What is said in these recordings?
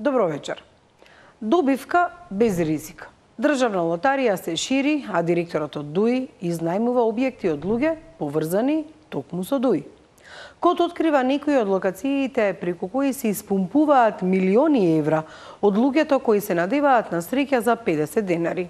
Добро вечер. Добивка без ризик. Државна лотарија се шири, а директорот од ДУИ изнајмува објекти од луѓе поврзани токму со ДУИ. Код открива некои од локациите преку кои се испумпуваат милиони евра од луѓето кои се надеваат на среќа за 50 денари.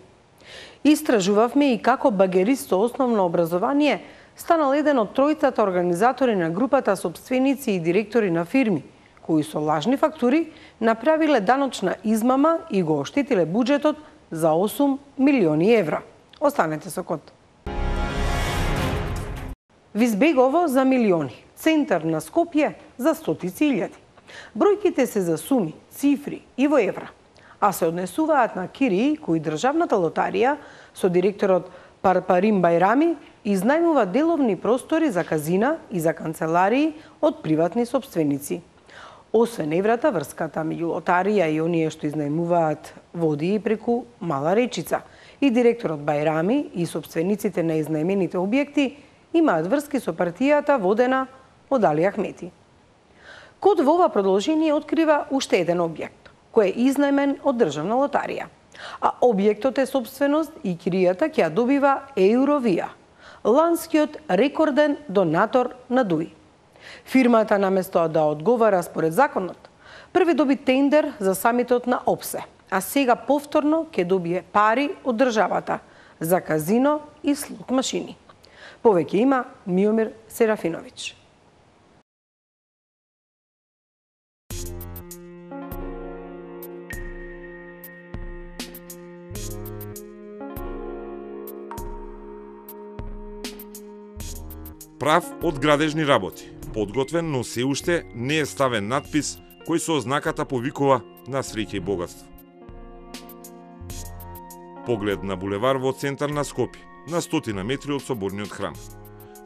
Истражувавме и како багерист со основно образование станал еден од тројцата организатори на групата сопственици и директори на фирми, кои со лажни фактури направиле даночна измама и го оштетиле буџетот за 8 милиони евра. Останете со код. Визбегово за милиони, центар на Скопје за стотици илјади. Бројките се за суми, цифри и во евра, а се однесуваат на кирии кои државната лотарија со директорот Парпарим Бајрами изнајмува деловни простори за казина и за канцеларии од приватни сопственици. Освен еврата, врската меѓу лотарија и оние што изнајмуваат води и преку Мала Речица. И директорот Бајрами и сопствениците на изнајмените објекти имаат врски со партијата водена од Али Ахмети. Код во ова продолжение открива уште еден објект, кој е изнајмен од државна лотарија. А објектот е собственост и киријата ќе ја добива Еуровија, ланскиот рекорден донатор на ДУИ. Фирмата наместо да одговара според законот, први доби тендер за самитот на ОПСЕ, а сега повторно ќе добие пари од државата за казино и слот машини. Повеќе има Миомир Серафиновиќ. Прав од градежни работи, подготвен, но се уште не е ставен надпис кој со ознаката повикува на среќа и богатство. Поглед на булевар во центар на Скопје, на 100 метри од соборниот храм.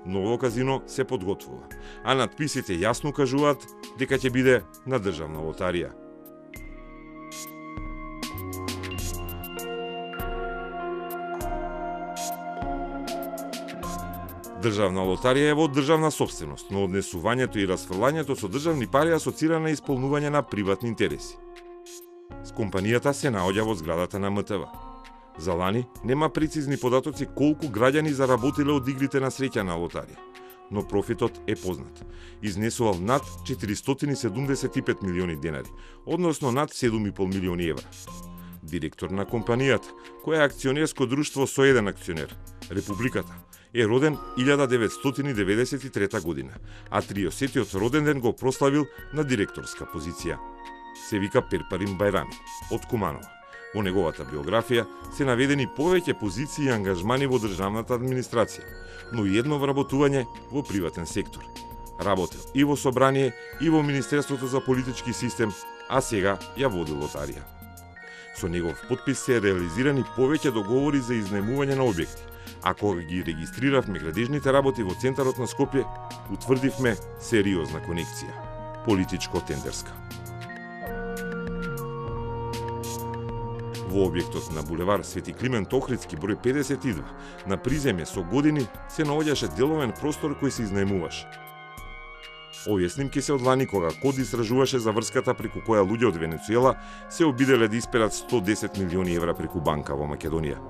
Ново казино се подготвува, а надписите јасно кажуваат дека ќе биде на државна лотарија. Државна лотарија е во државна собственост, но однесувањето и расфрлањето со државни пари асоцира на исполнување на приватни интереси. С компанијата се наоѓа во зградата на МТВ. За лани нема прецизни податоци колку граѓани заработиле од игрите на среќа на лотарија, но профитот е познат. Изнесувал над 475 милиони денари, односно над 7,5 милиони евра. Директор на компанијата, која е акционерско друштво со еден акционер, Републиката, е роден 1993 година, а 30-тиот роден ден го прославил на директорска позиција. Се вика Парпарим Бајрами, од Куманова. Во неговата биографија се наведени повеќе позиции и ангажмани во државната администрација, но и едно вработување во приватен сектор. Работел и во собрание, и во Министерството за политички систем, а сега ја води лотарија. Со негов подпис се реализирани повеќе договори за изнајмување на објекти, а кога ги регистриравме градежните работи во центарот на Скопје, утврдивме сериозна конекција, политичко-тендерска. Во објектот на булевар Свети Климент Охридски број 52 на приземје со години се наоѓаше деловен простор кој се изнајмуваше. Овие снимки се од лани кога КОД истражуваше за врската преку која луѓе од Венецуела се обиделе да исперат 110 милиони евра преку банка во Македонија.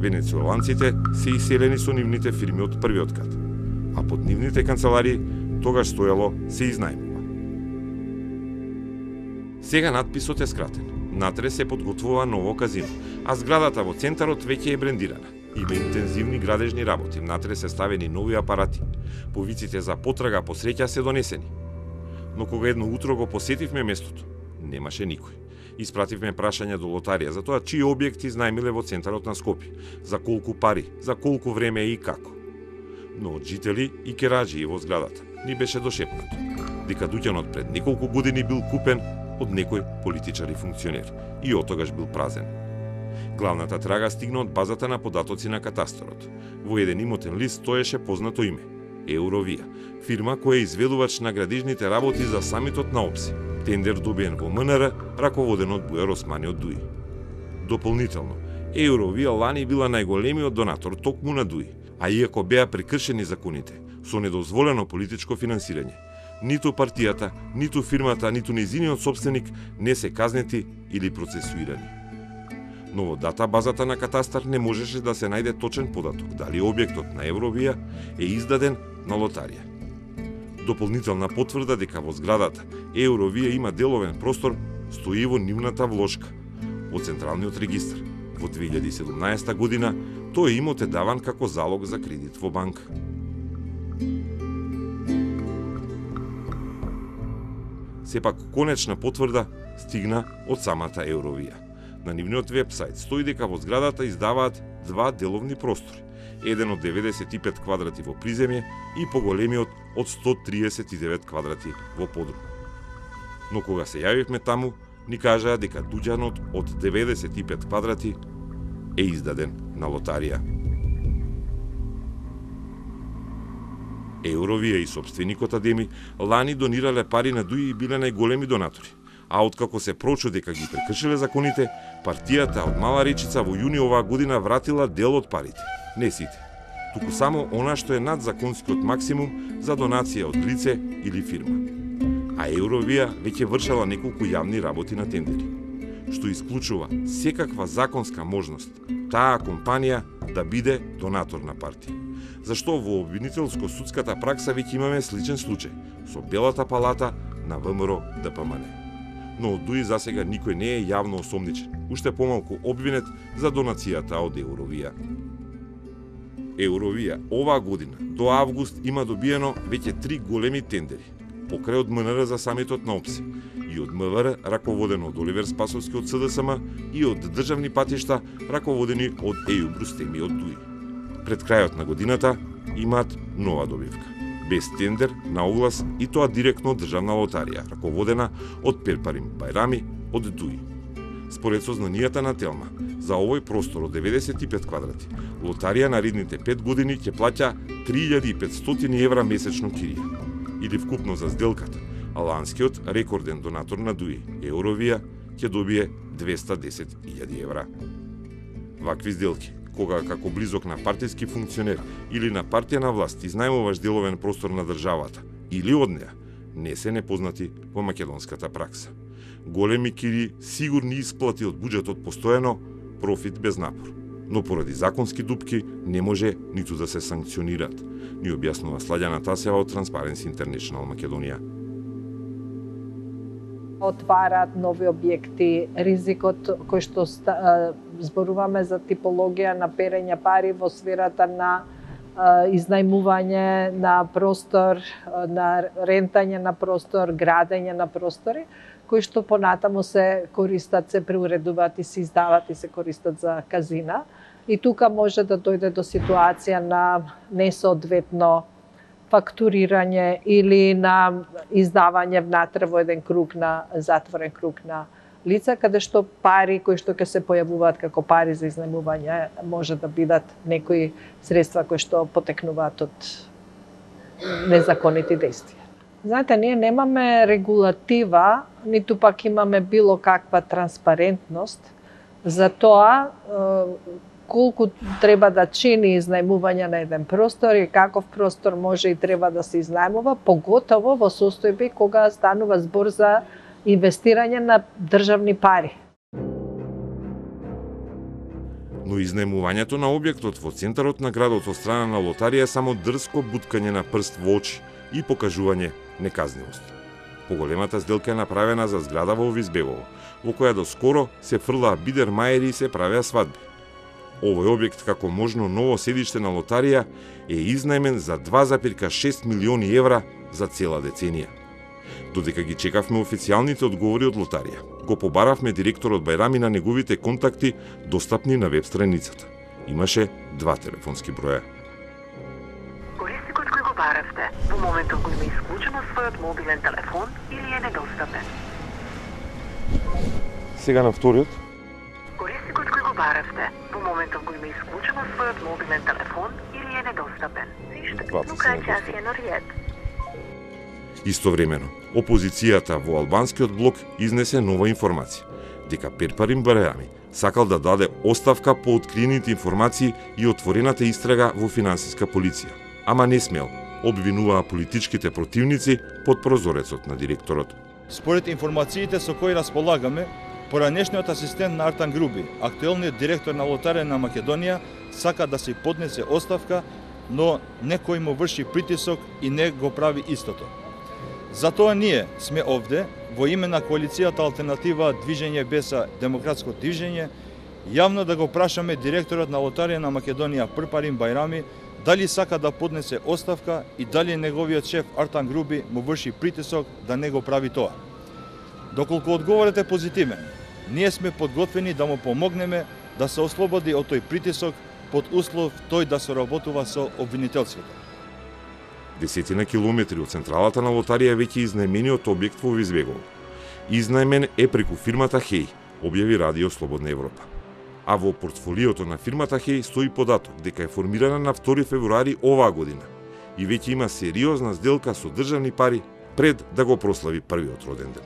Венецуеланците се иселени со нивните фирми од првиот кат, а под нивните канцеларии тогаш стоело се изнајмува. Сега надписот е скратен. Натре се подготвува ново казино, а зградата во центарот веќе е брендирана. Има интензивни градежни работи, внатре се ставени нови апарати. Повиците за потрага по среќа се донесени. Но кога едно утро го посетивме местото, немаше никој. Испративме прашања до лотарија за тоа чии објекти изнајмиле во центарот на Скопје, за колку пари, за колку време и како. Но од жители и кераджии во зградата ни беше дошепнато дека дуќанот пред неколку години бил купен од некој политичар и функционер и отогаш бил празен. Главната трага стигна од базата на податоци на катастарот. Во еден имотен лист стоеше познато име – Евровија, фирма која е изведувач на градежните работи за самитот на ОПСИ. Тендер добиен во МНР, раководен од Бујар Османи од ДУИ. Дополнително, Евровија лани била најголемиот донатор токму на ДУИ, а иако беа прекршени законите, со недозволено политичко финансирање, ниту партијата, ниту фирмата, ниту нејзиниот собственик не се казнети или процесуирани. Но во дата базата на катастар не можеше да се најде точен податок дали објектот на Евровија е издаден на лотарија. Дополнителна потврда дека во зградата Евровија има деловен простор стои во нивната влошка во Централниот регистар. Во 2017 година тој имот е даван како залог за кредит во банка. Сепак конечна потврда стигна од самата Евровија. На нивниот вебсайт стои дека во зградата издаваат два деловни простори, еден од 95 квадрати во приземје и поголемиот од 139 квадрати во подрум. Но кога се јавивме таму, ни кажаа дека дуќанот од 95 квадрати е издаден на лотарија. Евровија и собственикот Адеми лани донирале пари на ДУИ и биле најголеми донатори, а откако се прочу дека ги прекршиле законите, партијата од Мала Речица во јуни оваа година вратила дел од парите. Не сите, туку само она што е над законскиот максимум за донација од лице или фирма. А Евровија веќе вршала неколку јавни работи на тендери, што исклучува секаква законска можност таа компанија да биде донатор на партија. Зашто во обвинителско-судската пракса веќе имаме сличен случај со Белата палата на ВМРО ДПМН. Но од ДУИ засега никој не е јавно осомничен, уште помалку обвинет за донацијата од Евровија. Евровија оваа година до август има добиено веќе 3 големи тендери, покрај од МНР за самитот на ОПСИ и од МВР раководено од Оливер Спасовски од СДСМ и од државни патишта раководени од Ејуб Рустеми од ДУИ. Пред крајот на годината имаат нова добивка, без тендер на оглас и тоа директно од државна лотарија, раководена од Перпарим Бајрами од ДУИ. Според сознанијата на Телма, за овој простор од 95 квадрати, лотарија наредните 5 години ќе плаќа 3500 евра месечно кирија, или вкупно за сделката, а ланскиот рекорден донатор на ДУИ, Евровија, ќе добие 210.000 евра. Вакви сделки, кога како близок на партиски функционер или на партија на власт изнајмуваш деловен простор на државата или од неа, не се непознати во македонската пракса. Големи кири сигурни исплати од буџетот постојано, профит без напор. Но поради законски дупки не може ниту да се санкционираат, ни објаснува Сладјана Тасева од Transparency International Македонија. Отвараат нови објекти, ризикот кој што зборуваме за типологија на перење пари во сферата на изнајмување на простор, на рентање на простор, градење на простори, кои што понатаму се користат, се преуредуваат и се издават и се користат за казина. И тука може да дојде до ситуација на несоодветно фактурирање или на издавање внатре во еден круг на затворен круг на лица, каде што пари кои што ќе се појавуваат како пари за изнајмување може да бидат некои средства кои што потекнуваат од незаконити действија. Знаете, ние немаме регулатива, ниту пак имаме било каква транспарентност за тоа колку треба да чини изнајмување на еден простор и каков простор може и треба да се изнајмува, поготово во состојби кога станува збор за инвестирање на државни пари. Но изнаемувањето на објектот во центарот на градот од страна на лотарија е само дрско буткање на прст во очи и покажување неказнивост. Поголемата сделка е направена за зграда во Визбегово, во која доскоро се фрлаа бидермаери и се правеа свадби. Овој објект како можно ново седиште на лотарија е изнаемен за 2,6 милиони евра за цела деценија. Додека ги чекавме официјалните одговори од лотарија, го побаравме директорот Бајрами на неговите контакти достапни на веб страницата. Имаше 2 телефонски броја. Корисникот кој го баравте, во моментот кој има исклучено својот мобилен телефон или е недостапен. Сега на вториот. Корисникот кој го баравте, во моментот кој има исклучено својот мобилен телефон или е недостапен. Двата се недостапен. Истовремено, опозицијата во албанскиот блок изнесе нова информација, дека Перпарим Бајрами сакал да даде оставка по откриените информации и отворената истрага во финансиска полиција, ама не смел, обвинуваа политичките противници под прозорецот на директорот. Според информациите со кои располагаме, поранешниот асистент на Артан Груби, актуелниот директор на Лотарија на Македонија, сака да се поднесе оставка, но некој му врши притисок и не го прави истото. Затоа ние сме овде, во име на коалицијата Алтернатива Движење Беса Демократско движење, јавно да го прашаме директорот на Лотарија на Македонија Перпарим Бајрами дали сака да поднесе оставка и дали неговиот шеф Артан Груби му врши притисок да не го прави тоа. Доколку одговорот е позитивен, ние сме подготвени да му помогнеме да се ослободи од тој притисок под услов тој да соработува со обвинителството. Десетина километри од централата на лотарија веќе изнаемениот објект во Визбегово. Изнаемен е преку фирмата Хеј, објави Радио Слободна Европа. А во портфолиото на фирмата Хеј стои податок дека е формирана на 2 февруари оваа година и веќе има сериозна сделка со државни пари пред да го прослави првиот роден ден.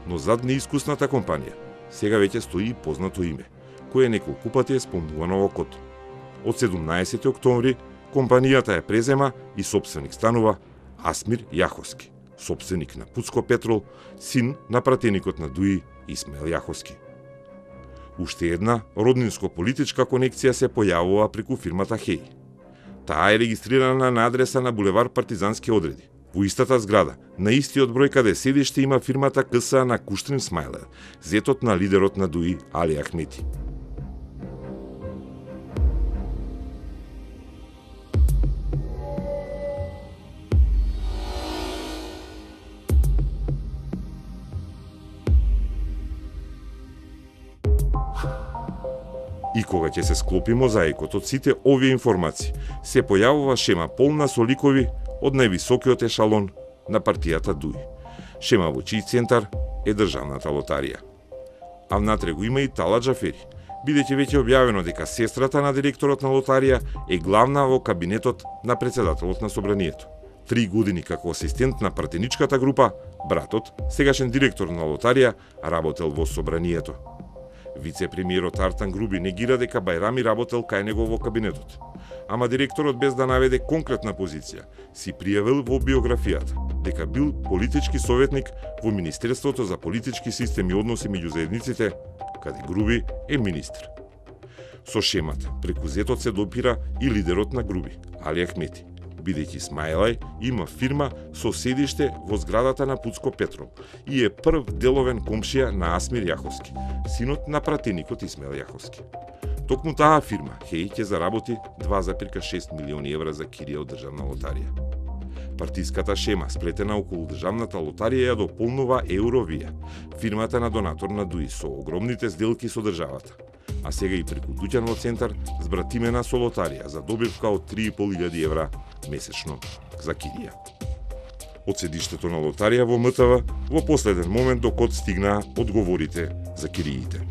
Но зад неискусната компанија сега веќе стои и познато име, кое неколку пати е спомнувано во код. Од 17 октомври компанијата ја презема и сопственик станува Асмир Јаховски, сопственик на Пуцко Петрол, син на пратеникот на Дуи Исмаил Јаховски. Уште една роднинско-политичка конекција се појавува преку фирмата Хеј. Таа е регистрирана на адреса на булевар Партизански одреди. Во истата зграда, на истиот број каде седиште има фирмата КСА на Куштрин Смајле, зетот на лидерот на Дуи Али Ахмети. И кога ќе се склопи мозаикот од сите овие информации, се појавува шема полна со ликови од највисокиот ешалон на партијата Дуи. Шема во чиј центар е државната лотарија. А внатре го има и Тала Џафери, бидејќи веќе објавено дека сестрата на директорот на лотарија е главна во кабинетот на претседателот на собранието. 3 години како асистент на пратеничката група, братот, сегашен директор на лотарија, работел во собранието. Вице-премиерот Артан Груби негира дека Бајрами работел кај него во кабинетот. Ама директорот, без да наведе конкретна позиција, си пријавил во биографијата дека бил политички советник во Министерството за политички системи и односи меѓу заедниците, каде Груби е министр. Со шемата, преку зетот се допира и лидерот на Груби, Али Ахмети, бидејќи Смајлај има фирма со седиште во зградата на Пуцко Петрол и е прв деловен комшија на Асмир Јаховски, синот на пратеникот Исмаил Јаховски. Токму таа фирма, Хеј, ќе заработи 2,6 милиони евра за кирија од државна лотарија. Партиската шема, сплетена околу државната лотарија, ја дополнува Евровија, фирмата на донатор на Дуи со огромните сделки со државата. А сега и преку дуќанот центар збратимена со лотарија за добивка од 3.500 евра месечно за кирија. Од седиштето на лотарија во МТВ во последен момент до код стигнаа одговорите за кириите.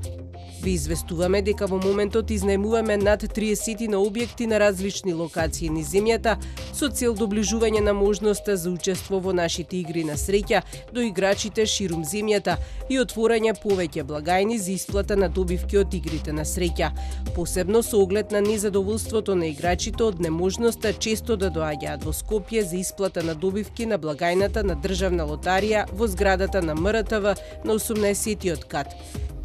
Ви известуваме дека во моментот изнаемуваме над 30 на објекти на различни локации низ земјата со цел доближување на можноста за учество во нашите игри на среќа до играчите ширум земјата и отворање повеќе благајни за исплата на добивки од игрите на среќа, посебно со оглед на незадоволството на играчите од неможноста често да доаѓаат во Скопје за исплата на добивки на благајната на државна лотарија во зградата на МРТВ на 18-тиот кат.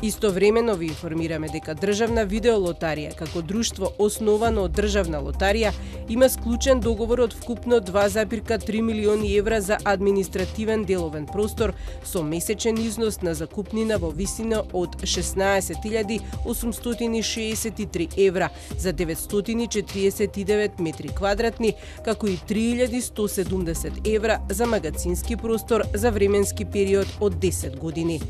Истовремено ви информираме дека Државна видеолотарија, како друштво основано од Државна лотарија, има склучен договор од вкупно 2,3 милиони евра за административен деловен простор со месечен износ на закупнина во висина од 16.863 евра за 949 метри квадратни, како и 3.170 евра за магазински простор за временски период од 10 години.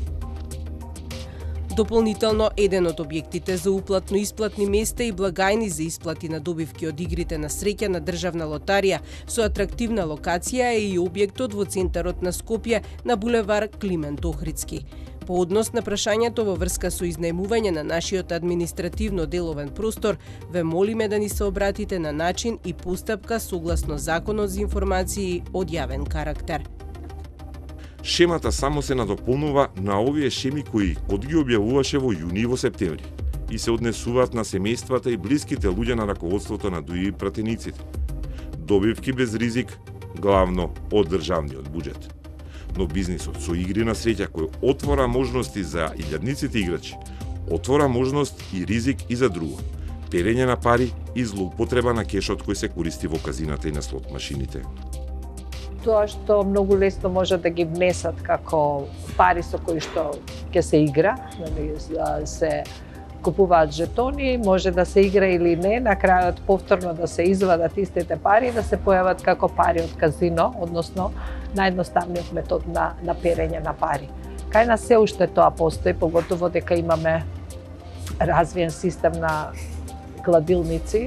Дополнително, еден од објектите за уплатно-исплатни места и благајни за исплати на добивки од игрите на среќа на Државна лотарија со атрактивна локација е и објектот во центарот на Скопје на булевар Климент Охридски. По однос на прашањето во врска со изнајмување на нашиот административно-деловен простор, ве молиме да ни се обратите на начин и постапка согласно Законот за информации од јавен карактер. Шемата само се надополнува на овие шеми кои КОД ги објавуваше во јуни и во септември и се однесуваат на семејствата и блиските луѓе на раководството на ДУИ и пратениците. Добивки без ризик, главно од државниот буџет. Но бизнисот со игри на среќа кој отвора можности за илјадниците играчи, отвора можност и ризик и за друго. Перење на пари и злоупотреба на кешот кој се користи во казината и на слот машините. Тоа што многу лесно може да ги внесат како пари со кои што ќе се игра, се купуваат жетони, може да се игра или не, на крајот повторно да се извадат истите пари и да се појават како пари од казино, односно наједноставниот метод на перење на пари. Кај нас се уште тоа постои, поготово дека имаме развиен систем на кладилници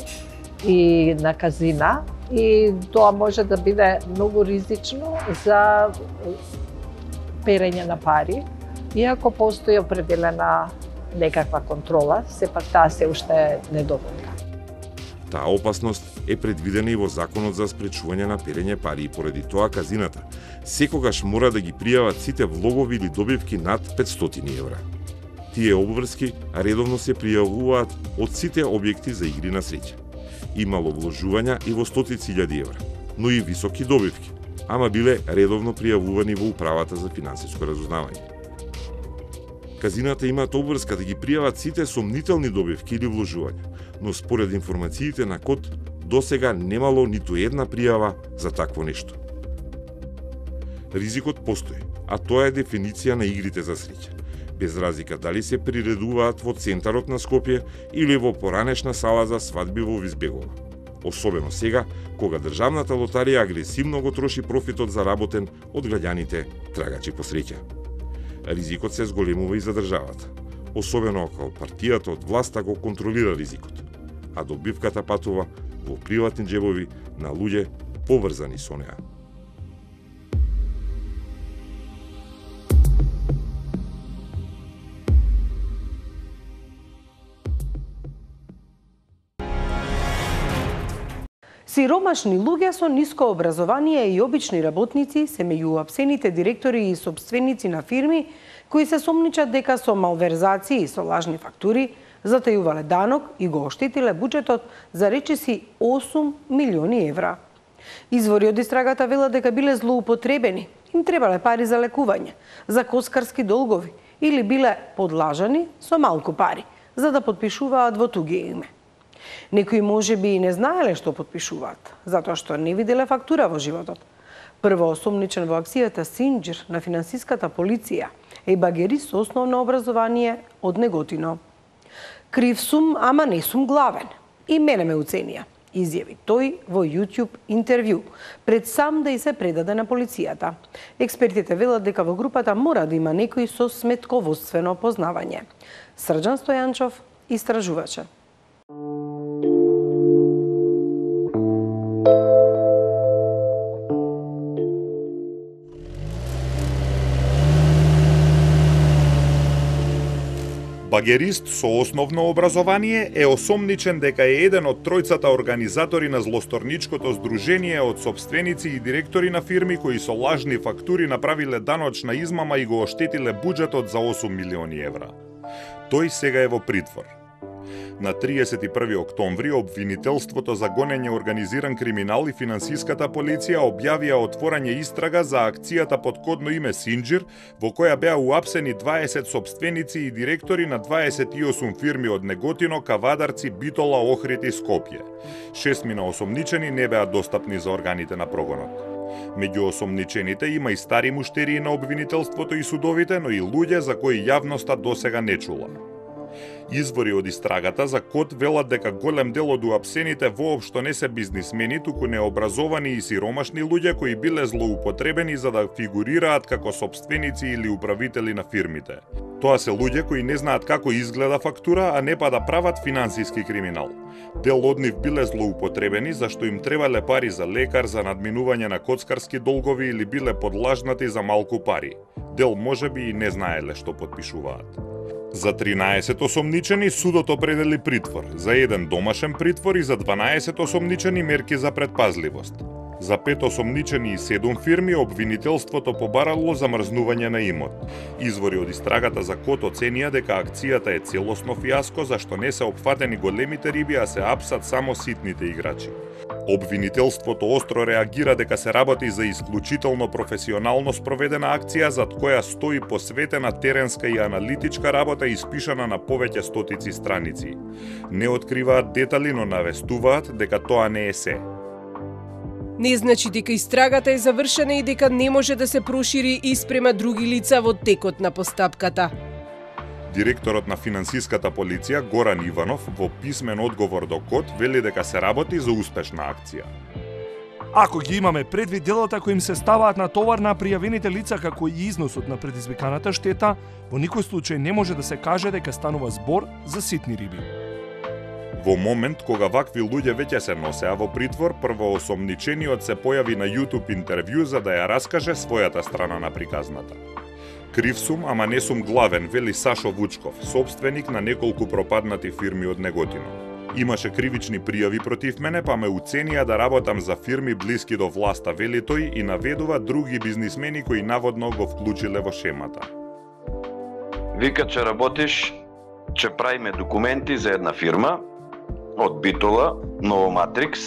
и на казина, и тоа може да биде многу ризично за перење на пари, иако постои определена некаква контрола, сепак таа се уште недоволна. Таа опасност е предвидена и во Законот за спречување на перење пари и поради тоа казината секогаш мора да ги пријават сите влогови или добивки над 500 евра. Тие обврски редовно се пријавуваат од сите објекти за игри на среќа. Имало вложувања и во стотици илјади евра, но и високи добивки, ама биле редовно пријавувани во Управата за финансиско разузнавање. Казината имаат обврска да ги пријават сите сомнителни добивки или вложувања, но според информациите на КОД досега немало ниту една пријава за такво нешто. Ризикот постои, а тоа е дефиниција на игрите за среќа, без разлика дали се приредуваат во центарот на Скопје или во поранешна сала за свадби во Визбегова. Особено сега, кога Државната лотарија агресивно го троши профитот заработен од граѓаните трагачи по среќа. Ризикот се зголемува и за државата, особено ако партијата од власта го контролира ризикот, а добивката патува во приватни џебови на луѓе поврзани со неа. Сиромашни луѓе со ниско образование и обични работници се меѓу апсените директори и сопственици на фирми кои се сомничат дека со малверзации и со лажни фактури затајувале данок и го оштетиле буџетот за речиси 8 милиони евра. Извори од истрагата велат дека биле злоупотребени, им требале пари за лекување, за коскарски долгови или биле подлажани со малку пари, за да подпишуваат во туѓе име. Некои може би и не знаеле што подпишуваат, затоа што не виделе фактура во животот. Прво осомничен во акцијата Синџир на финансиската полиција е багерист со основно образование од Неготино. Крив сум, ама не сум главен. И мене ме уценија, изјави тој во YouTube интервју, пред сам да и се предаде на полицијата. Експертите велат дека во групата мора да има некој со сметководствено познавање. Срđан Стојанчов истражуваче. Багерист со основно образование е осомничен дека е еден од тројцата организатори на злосторничкото здружение од сопственици и директори на фирми кои со лажни фактури направиле даночна измама и го оштетиле буџетот за 8 милиони евра. Тој сега е во притвор. На 31 октомври обвинителството за гонење организиран криминал и финансиската полиција објавија отворање истрага за акцијата под кодно име Синџир, во која беа уапсени 20 сопственици и директори на 28 фирми од Неготино, Кавадарци, Битола, Охрид и Скопје. 6 осомничени не беа достапни за органите на прогонот. Меѓу осомничените има и стари муштерии на обвинителството и судовите, но и луѓе за кои јавноста досега не чула. Извори од истрагата за КОТ велат дека голем дел од уапсените воопшто не се бизнисмени, туку необразовани и сиромашни луѓе кои биле злоупотребени за да фигурираат како сопственици или управители на фирмите. Тоа се луѓе кои не знаат како изгледа фактура, а не па да прават финансиски криминал. Дел од нив биле злоупотребени зашто им требале пари за лекар, за надминување на коцкарски долгови или биле подлажнати за малку пари. Дел можеби и не знаеле што подпишуваат. За 13 осомничени судот определи притвор, за еден домашен притвор и за 12 осомничени мерки за предпазливост. За 5 осомничени и 7 фирми обвинителството побарало замрзнување на имот. Извори од истрагата за КОТ оценија дека акцијата е целосно фиаско зашто не се опфатени големите риби, а се апсат само ситните играчи. Обвинителството остро реагира дека се работи за исклучително професионално спроведена акција зад која стои посветена теренска и аналитичка работа испишана на повеќе стотици страници. Не откриваат детали, но навестуваат дека тоа не е се. Не значи дека истрагата е завршена и дека не може да се прошири и спрема други лица во текот на постапката. Директорот на финансиската полиција Горан Иванов во писмен одговор до КОТ вели дека се работи за успешна акција. Ако ги имаме предвид делата кои им се ставаат на товар на пријавените лица како и износот на предизвиканата штета, во никој случај не може да се каже дека станува збор за ситни риби. Во момент кога вакви луѓе веќе се носеа во притвор, првоосомничениот се појави на YouTube интервју за да ја раскаже својата страна на приказната. Крив сум, ама не сум главен, вели Сашо Вучков, собственик на неколку пропаднати фирми од Неготино. Имаше кривични пријави против мене, па ме уценија да работам за фирми блиски до власта, вели тој и наведува други бизнисмени кои наводно го вклучиле во шемата. Вика, че работиш, че правиме документи за една фирма од Битола, Новоматрикс,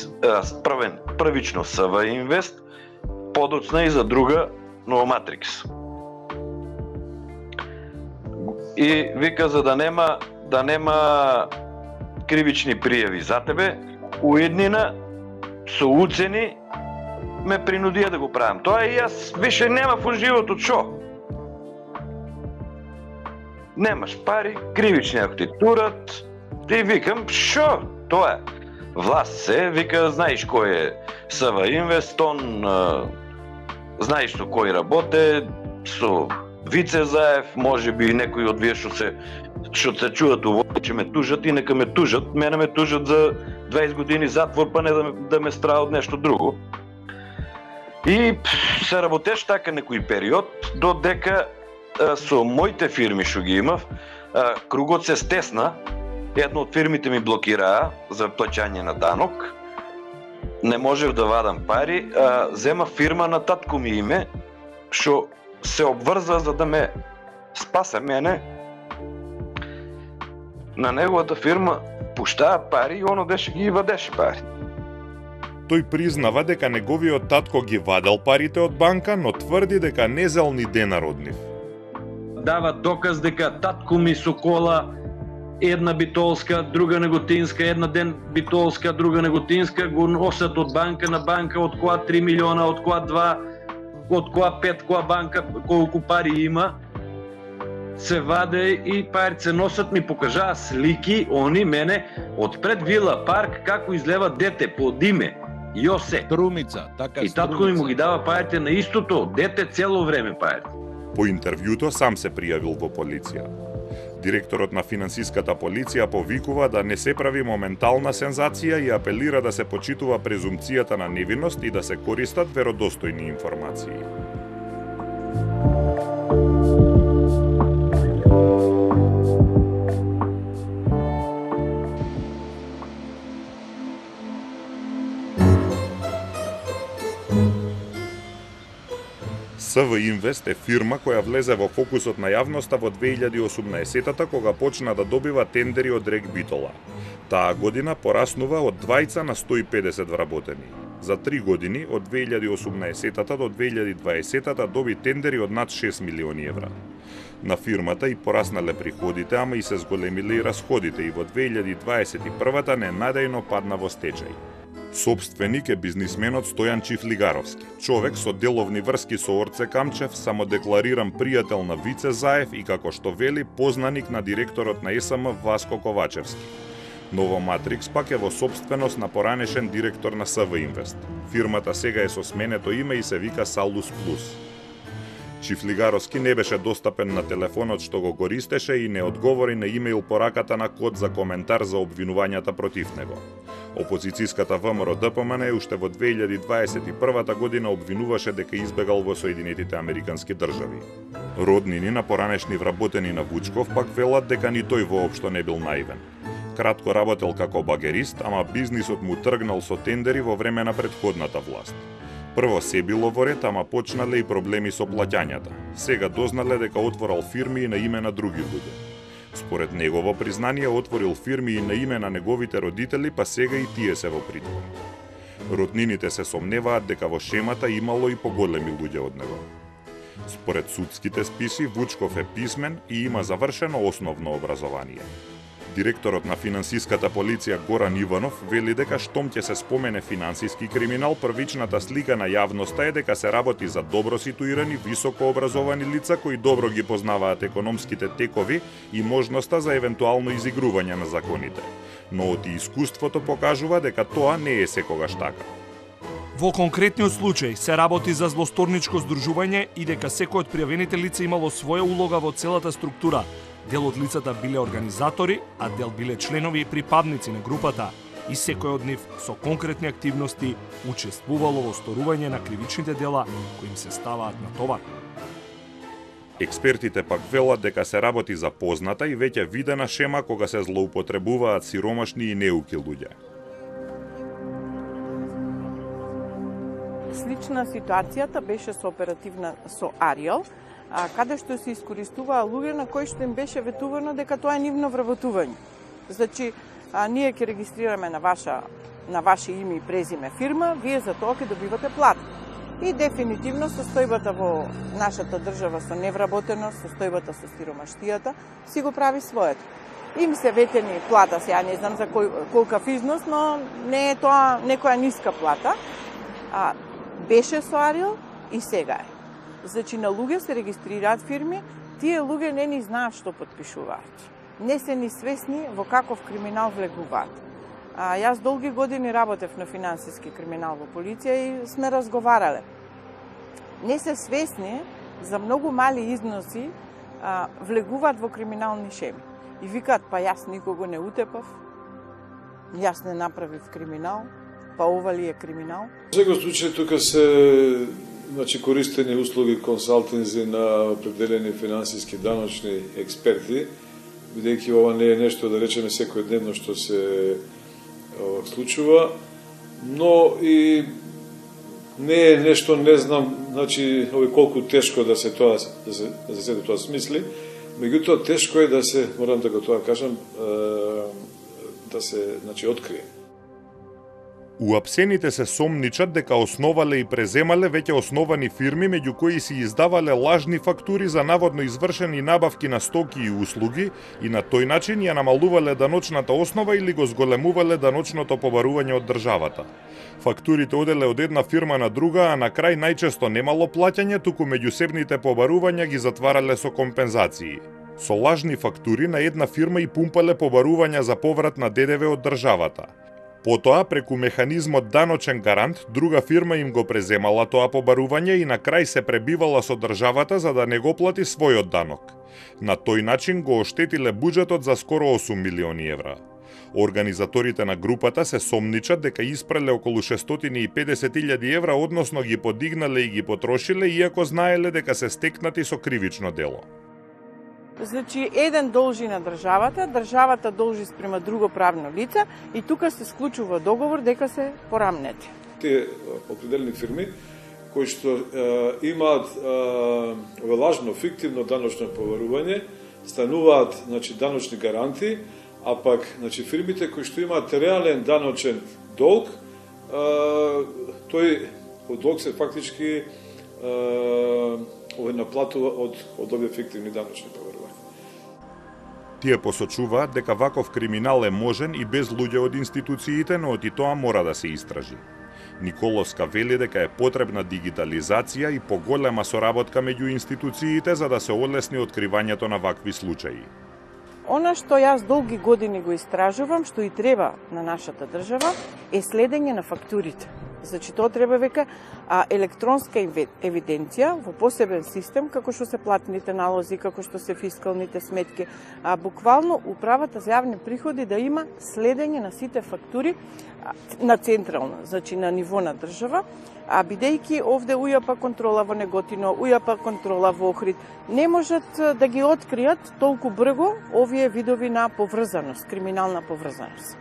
првично СВ Инвест, подоцна и за друга Новоматрикс. И вика, за да нема кривични пријави за тебе, уеднина со уцени ме принудија да го правам. Тоа и јас више нема во животот шо. Немаш пари, кривични ако ти турат, ти викам шо? Тоа е. Власт се, вика, знаеш кој е СВ Инвест, он знаеш со кој работе, со Вице Заев, може би некои од вие што се чуат увој, че ме тужат и нека ме тужат. Мене ме тужат за 20 години затвор, па не да ме страа од нешто друго. И се работеш така некој период, додека со моите фирми што ги имав, кругот се стесна. Една од фирмите ми блокираа за плаќање на данок. Не можев да вадам пари, зема фирма на татко ми име, што се обврза за да ме спасе мене. На неговата фирма пуштаа пари и он одеше ги вадеше пари. Тој признава дека неговиот татко ги вадел парите од банка, но тврди дека не зел ни денар од нив. Дава доказ дека татко ми со кола, една битолска, друга неготинска, една ден битолска, друга неготинска, го носат од банка на банка, од која 3 милиона, од која 2, од која 5, која банка, колку пари има, се ваде и парите се носат, ми покажаа слики, они мене, од пред Вила парк, како излева дете под име, Јосе. Струмица, така и татко ми му ги дава парите на истото, дете цело време парите. По интервјуто сам се пријавил во полиција. Директорот на финансиската полиција повикува да не се прави моментална сензација и апелира да се почитува презумпцијата на невиност и да се користат веродостојни информации. СВ Инвест е фирма која влезе во фокусот на јавноста во 2018-та кога почна да добива тендери од Рек Битола. Таа година пораснува од 20 на 150 вработени. За 3 години, од 2018-та до 2020-та доби тендери од над 6 милиони евра. На фирмата и пораснале приходите, ама и се зголемиле и расходите и во 2021-та ненадејно падна во стечај. Собственик е бизнисменот Стојан Чифлигаровски, човек со деловни врски со Орце Камчев, самодеклариран пријател на Вице Заев и, како што вели, познаник на директорот на СМ Васко Ковачевски. Ново Матрикс пак е во собственост на поранешен директор на СВ Инвест. Фирмата сега е со сменето име и се вика Салус Плюс. Чифлигаровски не беше достапен на телефонот што го користеше и не одговори на имејл пораката на код за коментар за обвинувањата против него. Опозицијската ВМРО ДПМН уште во 2021 година обвинуваше дека избегал во Соединетите Американски држави. Роднини на поранешни вработени на Вучков пак велат дека ни тој воопшто не бил наивен. Кратко работел како багерист, ама бизнисот му тргнал со тендери во време на претходната власт. Прво се било во ред, ама почнале и проблеми со плаќањата. Сега дознале дека отворал фирми и на име на други луѓе. Според негово признание отворил фирми и на име на неговите родители, па сега и тие се во притвор. Роднините се сомневаат дека во шемата имало и поголеми луѓе од него. Според судските списи, Вучков е писмен и има завршено основно образование. Директорот на финансиската полиција Горан Иванов вели дека штом ќе се спомене финансиски криминал, првичната слика на јавноста е дека се работи за добро ситуирани, високо образовани лица кои добро ги познаваат економските текови и можноста за евентуално изигрување на законите. Но од искуството покажува дека тоа не е секогаш така. Во конкретниот случај се работи за злосторничко здружување и дека секој од пријавените лица имало своја улога во целата структура. Дел од лицата биле организатори, а дел биле членови и припадници на групата и секој од нив со конкретни активности учествувало во сторување на кривичните дела кои им се ставаат на товар. Експертите пак велат дека се работи за позната и веќе видена шема кога се злоупотребуваат сиромашни и неуки луѓе. Слична ситуацијата беше со оперативна со Ариел, каде што се искористуваа луѓе на кои што им беше ветувано дека тоа е нивно вработување. Значи, ние ќе регистрираме на ваше име и презиме фирма, вие за тоа ќе добивате плата. И дефинитивно состојбата во нашата држава со невработеност, состојбата со сиромаштијата, си го прави своето. Им се ветени плата, сега не знам за колкав износ, но не е тоа некоја ниска плата. Беше со Ариел и сега е. Значи, на луѓе се регистрираат фирми, тие луѓе не ни знаат што подпишуваат. Не се ни свесни во каков криминал влегуваат. Јас долги години работев на финансиски криминал во полиција и сме разговарале. Не се свесни за многу мали износи влегуваат во криминални шеми. И викаат, па јас никого не утепав, јас не направив криминал, па ова ли е криминал? Во секој случај тука се користени услуги консалтинзи на определени финансиски даночни експерти, бидејќи ова не е нешто, да речеме, секојдневно што се случува, но и не е нешто, не знам, колку тешко да се тоа смисли, меѓутоа тешко е да се, морам да го тоа кажам, да се, открие. Уапсените се сомничат дека основале и преземале веќе основани фирми меѓу кои си издавале лажни фактури за наводно извршени набавки на стоки и услуги и на тој начин ја намалувале даночната основа или го зголемувале даночното побарување од државата. Фактурите оделе од една фирма на друга, а на крај најчесто немало плаќање, туку меѓусебните побарувања ги затварале со компензации. Со лажни фактури на една фирма и пумпале побарувања за поврат на ДДВ од државата. Потоа, преку механизмот даночен гарант, друга фирма им го преземала тоа побарување и на крај се пребивала со државата за да не го плати својот данок. На тој начин го оштетиле буџетот за скоро 8 милиони евра. Организаторите на групата се сомничат дека испрале околу 650.000 евра, односно ги подигнале и ги потрошиле, иако знаеле дека се стекнати со кривично дело. Значи, еден должи на државата, државата должи спрема друго правно лице и тука се склучува договор дека се порамнети. Тие определени фирми кои што имаат ове лажно, фиктивно даночно поварување, стануваат даночни гаранти, а пак фирмите кои што имаат реален даночен долг, тој долг се фактички наплатува од овие фиктивни даночни поварувања. Тие посочуваат дека ваков криминал е можен и без луѓе од институциите, но и тоа мора да се истражи. Николовска вели дека е потребна дигитализација и поголема соработка меѓу институциите за да се олесни откривањето на вакви случаи. Она што јас долги години го истражувам, што и треба на нашата држава, е следење на фактурите. Значи, тоа треба века електронска евиденција во посебен систем, како што се платните налози, како што се фискалните сметки. Буквално управата за јавни приходи да има следење на сите фактури на централно, значи на ниво на држава, бидејќи овде УЈП контрола во Неготино, УЈП контрола во Охрид, не можат да ги откријат толку брзо овие видови на поврзаност, криминална поврзаност.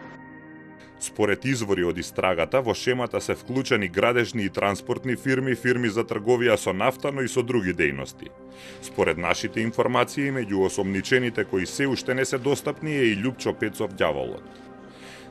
Според извори од истрагата, во шемата се вклучени градежни и транспортни фирми, фирми за трговија со нафта, но и со други дејности. Според нашите информации, меѓу осомничените кои се уште не се достапни е и Љупчо Пецов ѓаволот.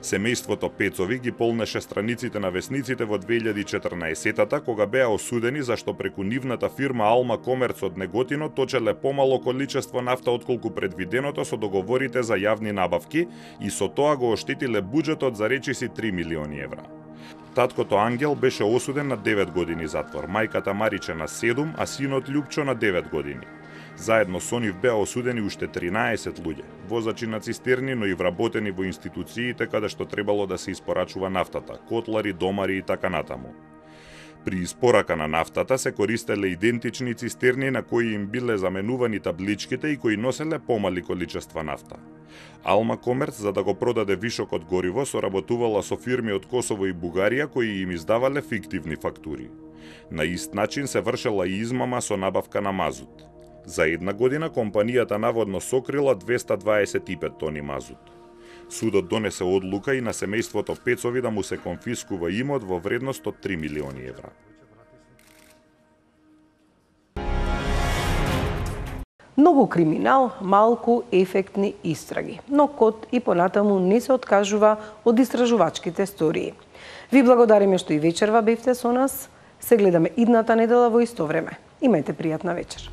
Семејството Пецови ги полнеше страниците на весниците во 2014-та, кога беа осудени зашто преку нивната фирма Алма Комерц од Неготино точеле помало количество нафта отколку предвиденото со договорите за јавни набавки и со тоа го оштетиле буџетот за речиси 3 милиони евра. Таткото Ангел беше осуден на 9 години затвор, мајката Мариче на 7, а синот Љупчо на 9 години. Заедно со нив беа осудени уште 13 луѓе, возачи на цистерни, но и вработени во институциите каде што требало да се испорачува нафтата, котлари, домари и така натаму. При испорака на нафтата се користеле идентични цистерни на кои им биле заменувани табличките и кои носеле помали количества нафта. Алма Комерц, за да го продаде вишокот гориво, соработувала со фирми од Косово и Бугарија кои им издавале фиктивни фактури. На ист начин се вршела и измама со набавка на мазут. За една година компанијата наводно сокрила 225 тони мазут. Судот донесе одлука и на семејството Пецови да му се конфискува имот во вредност од 3 милиони евра. Многу криминал, малку ефектни истраги, но код и понатаму не се откажува од истражувачките стории. Ви благодариме што и вечерва бевте со нас. Се гледаме идната недела во исто време. Имајте пријатна вечер.